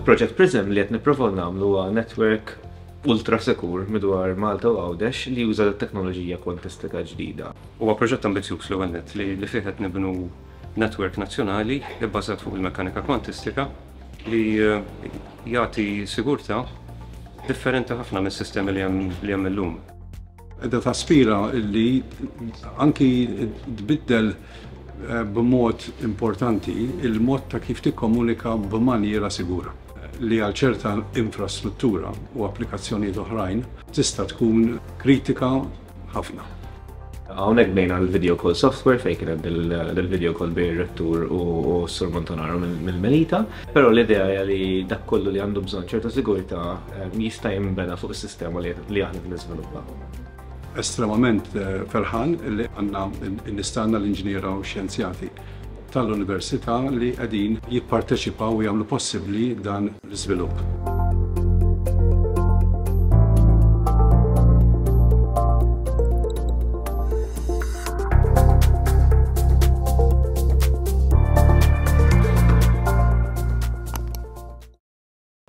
Project Prism li qed nipprovaw nagħmlu huwa network ultra sikur midwar Malta u Għawdex li juża teknoloġija kwantistika ġdida. Huwa proġett ambizzjuż l-ewwel nett li li fih qed nibnu network nazzjonali bbażat fuq il-mekkanika kwantistika li jagħti sigurtà differenti ħafna mis-sistemi li hemm li hemm illum. Qiegħda taspira li anki tbiddel b'mod importanti il-mod ta' kif tikkomunika b'manjiera sigura, li għal ċerta infrastruttura u applikazzjonijiet oħrajn tista' tkun kritika ħafna. Hawnhekk bdejna l-video call software fejn kien hemm il-video call bejn ir-rettur u s-Sur Montanaro mill-Melita. Però l-idea hija li dak kollu li għandu bżonn ċerta sigurtà jista' jinbena fuq is-sistema li aħna qed niżviluppaw. Estremament ferħan li għandna n-nies tagħna l-inġiniera u x-xjenzjati tal-Università li qegħdin jipparteċipaw u jagħmlu possibbli dan l-iżvilupp.